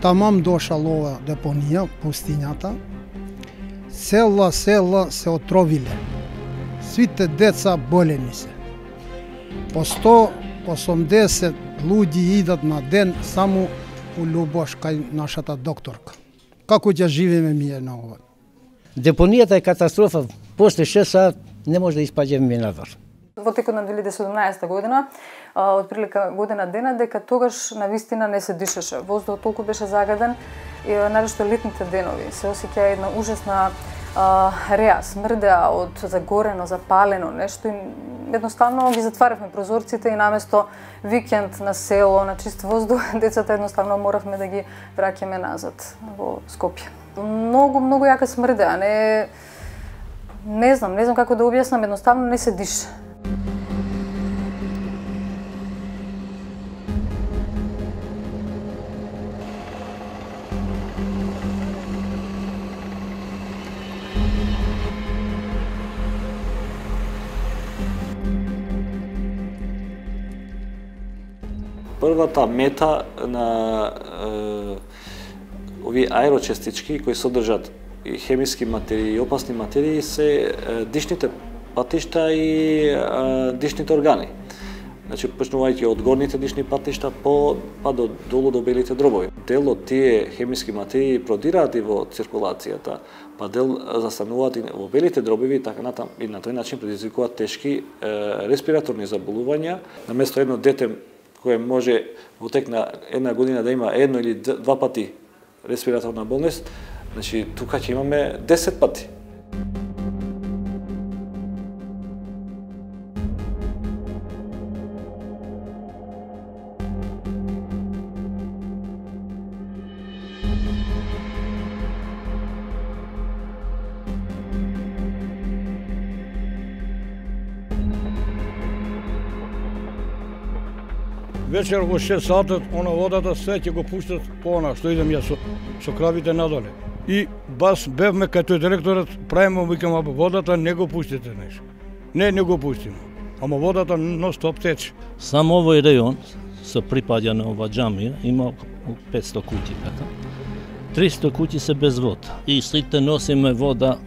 Тамам дошал ова депонија, пустињата, села се отровиле. Сите деца болени се. По 180 луѓи идат на ден само у љубош кај нашата докторка. Како ќе живееме ние на ова? Депонијата е катастрофа. После 6 сат не може да испаѓаме надвор. Во текот на 2017 година, отприлика година дена, дека тогаш навистина не се дишеше. Воздухот толку беше загаден и навеќе летните денови се осеќа една ужасна реа, смрдеа од загорено, запалено нешто и едноставно ги затваравме прозорците и наместо викенд на село, на чист воздух, децата едноставно моравме да ги враќаме назад во Скопје. Многу јака смрдеа, не знам како да објаснам, едноставно не се диша. Првата мета на овие аерочестички кои содржат и хемиски материи и опасни материи се дишните патишта и дишните органи. Значи, почнувајќи од горните дишни патишта па до долу до белите дробови. Дел од тие хемиски материи продираат и во циркулацијата, па дел застануваат и во белите дробови, така натам и на тој начин предизвикуваат тешки респираторни заболувања. Наместо едно дете кое може во тек на една година да има едно или два пати респираторна болест, значи тука ќе имаме 10 пати. Вечер во 6 сатот, она водата се ќе го пуштат по она, што идем ја со кравите надоле. И бас бевме кај тој директорот, правиме, викам, водата не го пуштите нешто. Не го пуштиме. Ама водата нон-стоп тече. Само овој рејон со припаѓа на ова џамија има 500 куќи така. 300 куќи се без вода. И сите носиме вода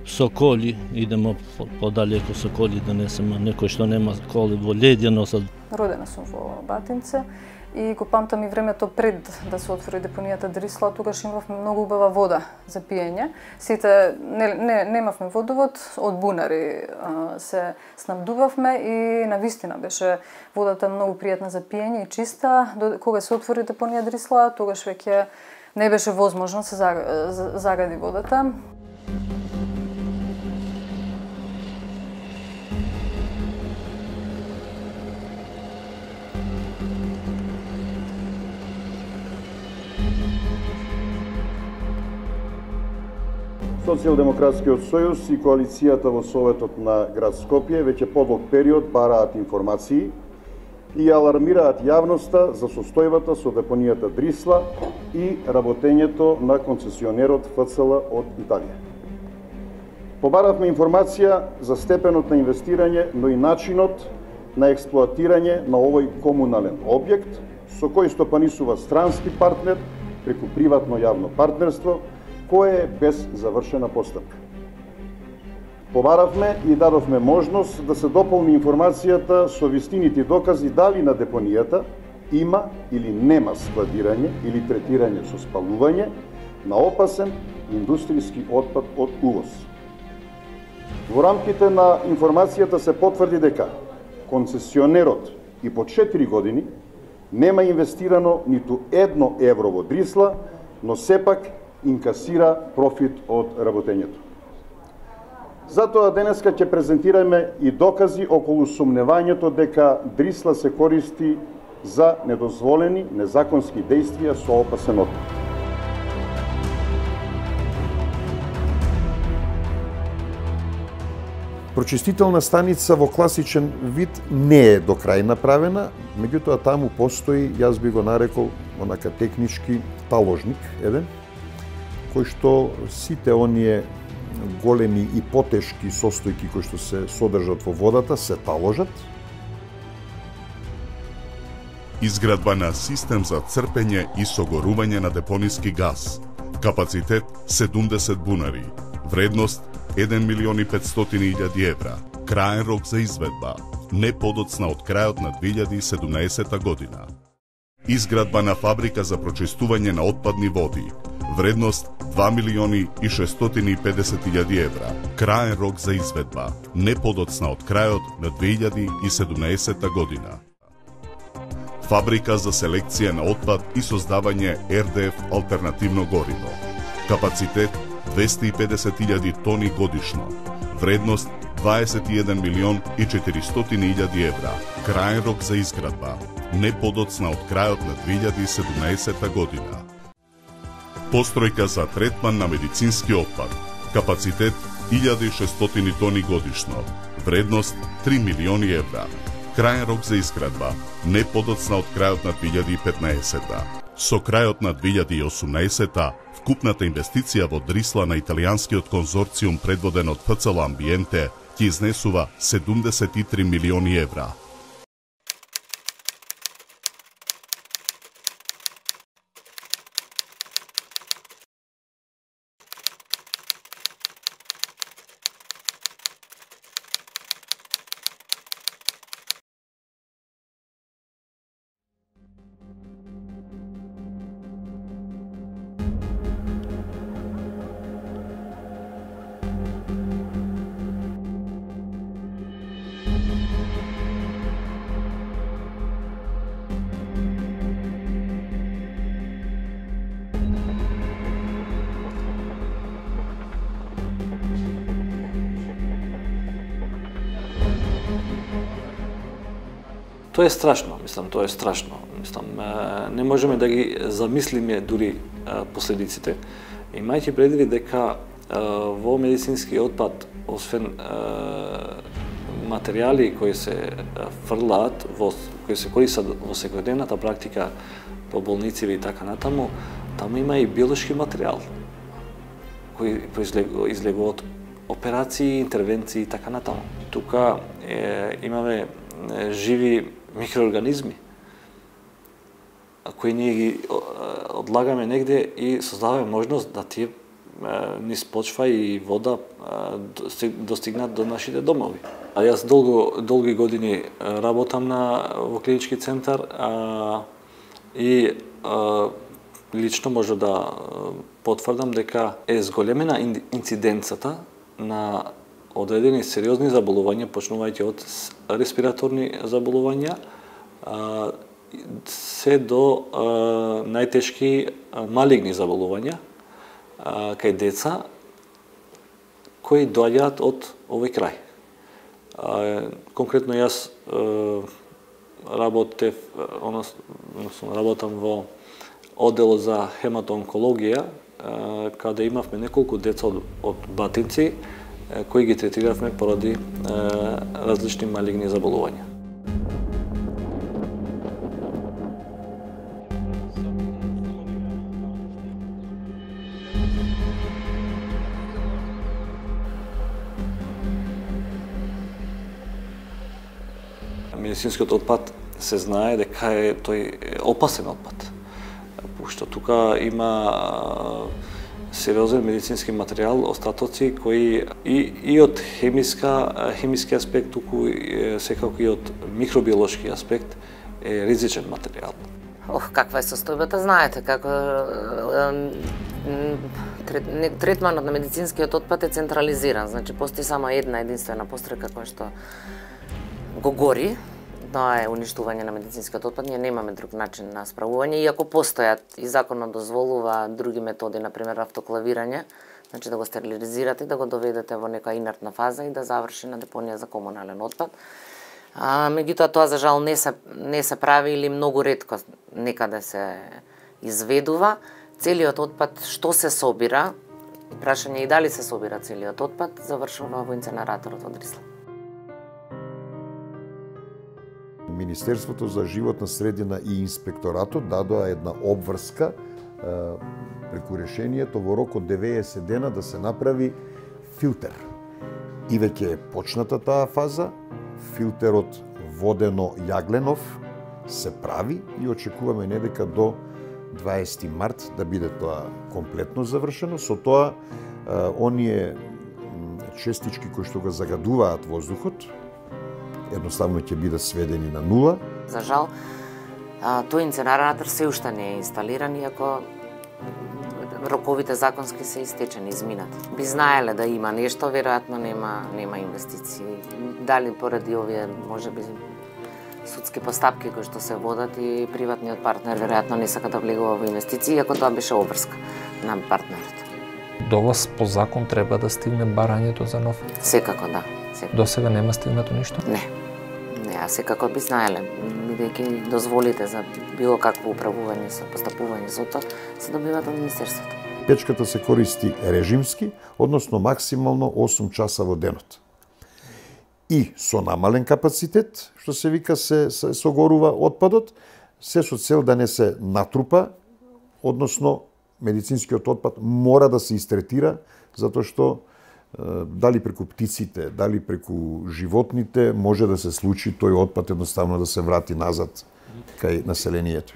со коли, идемо подалеку со коли да несеме, некој што нема коли во леѓа носат. Родена сум во Батинце и го памтам и времето пред да се отвори депонијата Дрисла, тогаш имавме многу убава вода за пиење. Сите немавме водовод, од бунари се снабдувавме и навистина беше водата многу пријатна за пиење и чиста. Кога се отвори депонија Дрисла, тогаш веќе не беше возможно се загади водата. Социјалдемократскиот сојуз и коалицијата во Советот на град Скопје веќе подолг период бараат информации и алармираат јавноста за состојбата со депонијата Дрисла и работењето на концесионерот ФЦЛ од Италија. Побаравме информација за степенот на инвестирање, но и начинот на експлоатирање на овој комунален објект, со кој стопанисува странски партнер преку приватно јавно партнерство, кое е без завршена постапка. Побаравме и дадовме можност да се дополни информацијата со вистините докази дали на депонијата има или нема складирање или третирање со спалување на опасен индустријски отпад од увоз. Во рамките на информацијата се потврди дека концесионерот и по 4 години нема инвестирано ниту 1 евро во Дрисла, но сепак инкасира профит од работењето. Затоа денеска ќе презентираме и докази околу сумневањето дека Дрисла се користи за недозволени незаконски действија со опасен отпад. Прочистителна станица во класичен вид не е до крај направена, меѓутоа таму постои, јас би го нарекол онака технички таложник еден, кој што сите оние големи и потешки состојки кои што се содржат во водата се таложат. Изградба на систем за црпење и согорување на депониски газ. Капацитет 70 бунари. Вредност 1.500.000 евра. Краен рок за изведба. Не подоцна од крајот на 2017 година. Изградба на фабрика за прочистување на отпадни води. Вредност 2.650.000 евра. Краен рок за изведба. Не подоцна од крајот на 2017 година. Фабрика за селекција на отпад и создавање РДФ алтернативно гориво. Капацитет 250.000 тони годишно. Вредност 21.400.000 евра. Краен рок за изградба. Не подоцна од крајот на 2017 година. Постројка за третман на медицински отпад. Капацитет 1.600 тони годишно. Вредност 3 милиони евра. Краен рок за изградба. Не подоцна од крајот на 2015. Со крајот на 2018 вкупната инвестиција во Дрисла на италијанскиот конзорциум предводен од ФЦЛ Амбиенте ќе изнесува 73 милиони евра. Тоа е страшно, тоа е страшно. Не можеме да ги замислиме дури последиците. Имајќи предвид дека во медицински отпад, освен материјали кои се фрлаат, кои се користат во секојдневната практика по болници и така натаму, таму има и биолошки материјал кои излегува од операции, интервенции и така натаму. Тука имаме живи микроорганизми кои ние ги одлагаме негде и создаваме можност да тие низ почва и вода достигнат до нашите домови. А јас долги години работам во клинички центар и лично може да потврдам дека е зголемена инциденцата на одредени сериозни заболувања, почнувајќи од респираторни заболувања, се до најтешки малигни заболувања кај деца кои доаѓаат од овој крај. Конкретно јас работам во оддел за хематоонкологија, каде имавме неколку деца од Батинци кои ги третиравме поради различни малигни заболувања. Медицинскиот отпад се знае дека тој опасен отпад, пошто тука има сериозен медицински материјал, остатоци кои и од хемиски аспект, туку секако и од микробиолошки аспект е ризичен материјал. Каква е состојбата, знаете, како третманот на медицинскиот отпад е централизиран, значи постои само една единствена постројка која што го гори. Тоа е уништување на медицинскиот отпад, ние немаме друг начин на справување, иако постојат и законот дозволува други методи, например автоклавирање, значи да го стерилизирате, да го доведете во нека инертна фаза и да заврши на депонија за комунален отпад. Меѓутоа тоа за жал не се прави или многу ретко некаде се изведува. Целиот отпад што се собира, прашање и дали се собира целиот отпад, завршува во инценераторот во Дрисла. Министерството за животна средина и инспекторатот дадоа една обврска преку решението во рок од 90 дена да се направи филтер. И веќе е почната таа фаза, филтерот водено-јагленов се прави и очекуваме недека до 20 март да биде тоа комплетно завршено. Со тоа, оние честички кои што го загадуваат воздухот, едноставно ќе бидат сведени на нула. За жал, тој инцинератор се уште не е инсталиран, иако роковите законски се истечени, изминати. Би знаеле да има нешто, веројатно нема инвестиции. Дали поради овие, можеби, судски постапки кои што се водат и приватниот партнер веројатно не сака да влегува во инвестиции, иако тоа беше обврска на партнерот. До вас по закон треба да стигне барањето за нов? Секако, да. До сега нема стигнато ништо? Не, а секако би знаеле, бидејќи дозволите за било какво управување со постапување со тоа, се добиваат од Министерството. Печката се користи режимски, односно максимално 8 часа во денот. И со намален капацитет, што се вика, се согорува отпадот, се со цел да не се натрупа, односно медицинскиот отпад мора да се истретира, затоа што дали преку птиците, дали преку животните, може да се случи тој отпад едноставно да се врати назад кај населението.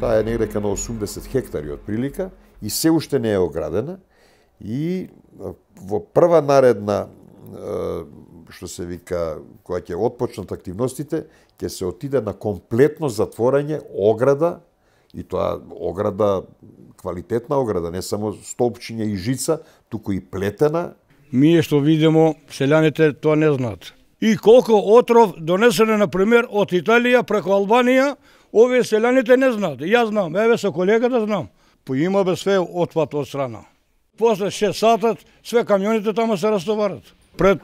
Таа е негдека на 80 хектари од прилика и се уште не е оградена и во прва наредна, што се вика, која ќе отпочнат активностите, ќе се отиде на комплетно затворање ограда, и тоа ограда, квалитетна ограда, не само столпчиња и жица, туку и плетена. Ние што видимо, селјаните тоа не знаат. И колку отров донесене, например, од Италија преку Албанија, овие селјаните не знаат. Јас знам, еве со колегата знам. Поима бе све отпад од страна. После 6 сата све камионите тamo се растоварат. Пред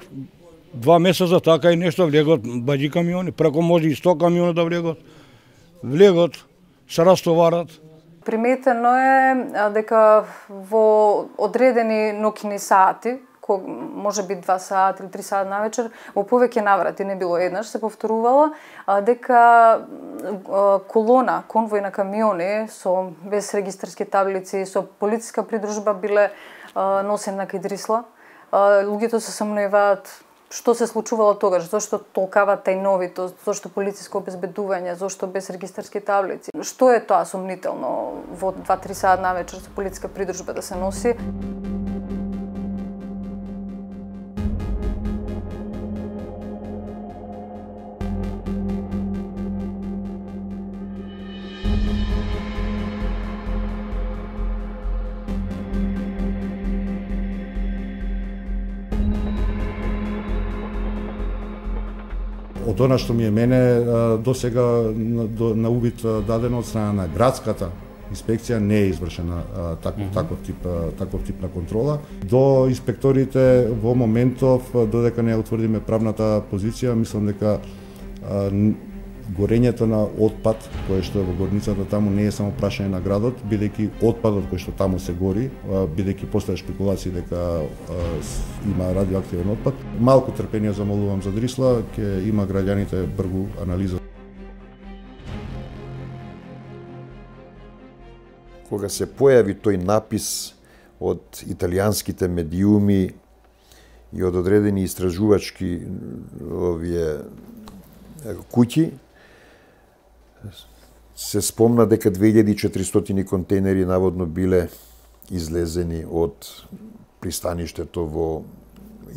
2 месеца така и нешто влегот баџи камиони, преку може и 100 камиони да влегот, се растоварат. Приметено е дека во одредени ноќни сати, може би 2 сати или 3 сати навечер, во повеќе наврати, не било еднаш, се повторувала дека колона, конвој на камиони со без регистарски таблици, со полициска придружба биле носени на кај Дрисла. Луѓето се сомневаат што се случувало тогаш, зошто толкава тајновито, зошто полициско обезбедување, зошто без регистарски таблици. Што е тоа сомнително во 2-3 сати навечер со полициска придружба да се носи? Од она што ми е мене до сега на увид дадено од страна на градската инспекција не е извршена таков тип на контрола. До инспекторите во моментов, додека не утврдиме правната позиција, мислам дека горењето на отпад, кој што е во горницата таму, не е само прашање на градот, бидејќи отпадот кој што таму се гори, бидејќи постоја шпекулации дека има радиоактивен отпад. Малку трпение замолувам за Дрисла, ќе има граѓаните бргу анализа. Кога се појави тој напис од италијанските медиуми и од одредени истражувачки овие куќи, се спомна дека 2400 контейнери наводно биле излезени од пристаништето во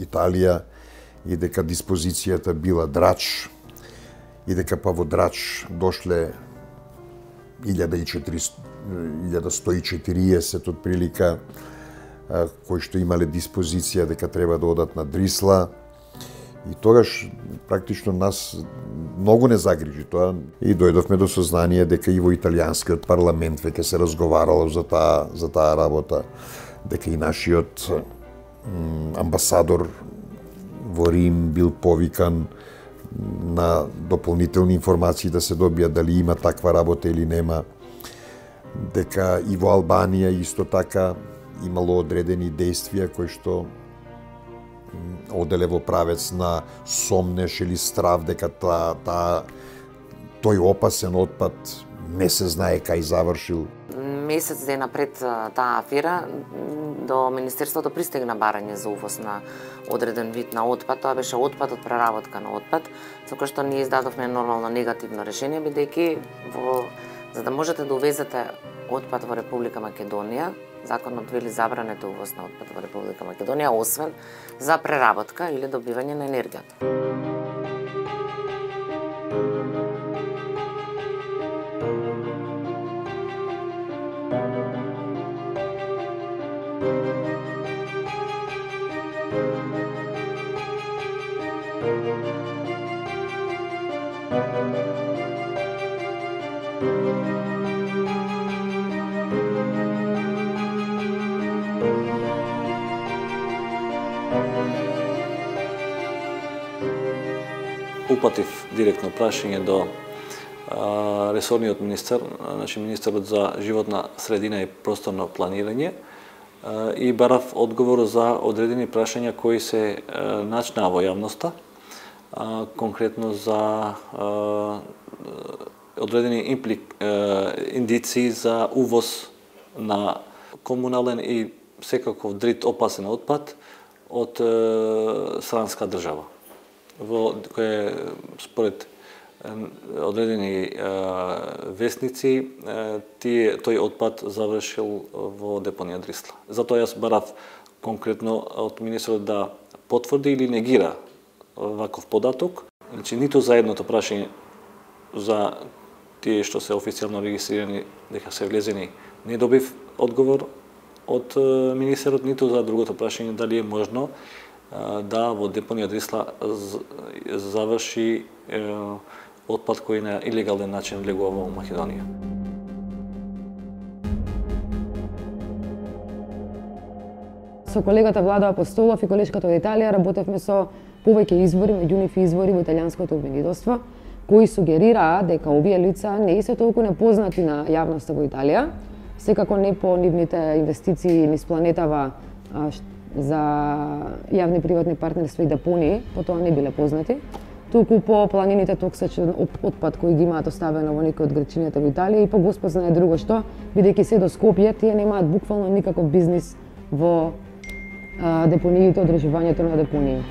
Италија и дека диспозицијата била Драч и дека па во Драч дошле 1140 од прилика кои што имале диспозиција дека треба да одат на Дрисла. И тогаш практично нас многу не загрижи тоа и дојдовме до сознание дека и во италијанскиот парламент веќе се разговарало за таа работа, дека и нашиот амбасадор во Рим бил повикан на дополнителни информации да се добија дали има таква работа или нема, дека и во Албанија исто така имало одредени действија кои што оделе во правец на сомнеш или страв дека тој опасен отпад не се знае кај завршил. Месец дена пред таа афера до Министерството пристигна барање за увоз на одреден вид на отпад. Тоа беше отпад од преработка на отпад, со кој што ние издадовме нормално негативно решение, бидејќи за да можете да увезете отпад во Република Македонија, законот вели забранете увоз на отпад во Република Македонија, освен за преработка или добивање на енергијата. Упатив директно прашање до ресорниот министер, значи министерот за животна средина и просторно планирање, и барав одговор за одредени прашања кои се начнаа во јавноста, конкретно за одредени индиции за увоз на комунален и секаков дрит опасен отпад од странска држава, во кој според одредени вестници тој отпад завршил во депонија Дрисла. Затоа јас барав конкретно од министерот да потврди или негира ваков податок. Значи, ниту за едното прашање за тие што се официјално регистрирани дека се влезени не добив одговор од министерот, ниту за другото прашање дали е можно да во депонија Дрисла заврши отпад кој на илегален начин влегува во Македонија. Со колегата Владо Апостолов и колешката од Италија работевме со повеќе извори, меѓу нив извори во италијанското обвинителство, кои сугерираа дека овие лица не се толку непознати на јавноста во Италија, секако не по нивните инвестиции низ планетава за јавни приватни партнерства и депонии, потоа не биле познати, туку по планините токсичен отпад кој ги имаат оставено во некои од градчињата во Италија и по Господ знае друго што, бидејќи се до Скопје, тие немаат буквално никаков бизнис во депониите, одржувањето на депонии.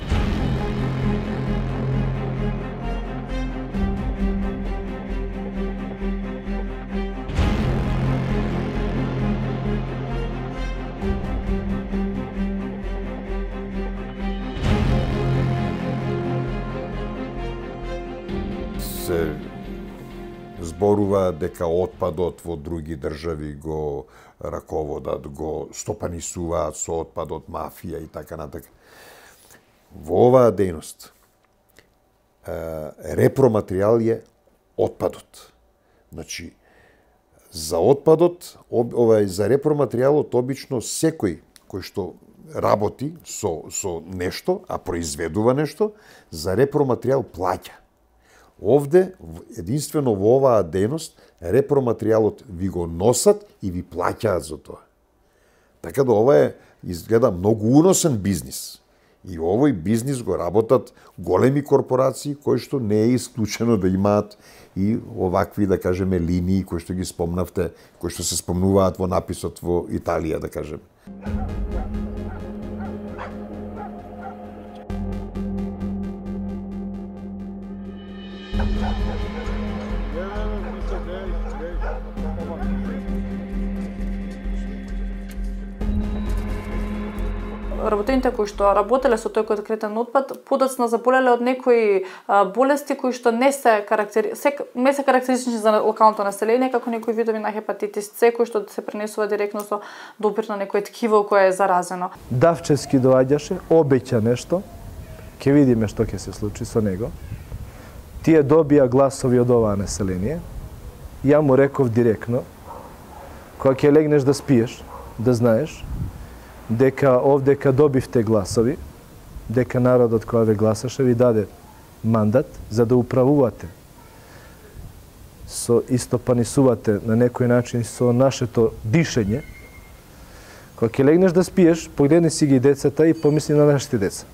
Се зборува дека отпадот во други држави го раководат, го стопанисуваат со отпадот, мафија и така натака. Во оваа дејност репроматеријал е отпадот. Значи, за отпадот, за репроматеријалот обично секој кој што работи со нешто, а произведува нешто, за репроматеријал плаќа. Овде, единствено во оваа дејност, репроматеријалот ви го носат и ви плаќаат за тоа. Така да ова изгледа многу уносен бизнис. И овој бизнис го работат големи корпорации кои што не е исклучено да имаат и овакви, да кажеме, линии кои што ги спомнавте, кои што се спомнуваат во написот во Италија, да кажеме. Работените кои што работеле со тој конкретен отпад подоцна заболеле од некои болести кои што не се карактеристични за локалното население, како некои видови на хепатитис С кои што се пренесува директно со допир на некое ткиво кое е заразено. Давчевски доаѓаше, обеќа нешто, ќе видиме што ќе се случи со него. Тие добија гласови од оваа население. Ја му реков директно, кога ќе легнеш да спиеш, да знаеш дека овдека добивте гласови, дека народот која ве гласаше ви даде мандат за да управувате, истопанисувате на некој начин со нашето дишење. Кога ќе легнеш да спиеш, погледни си ги децата и помисли на нашите деца.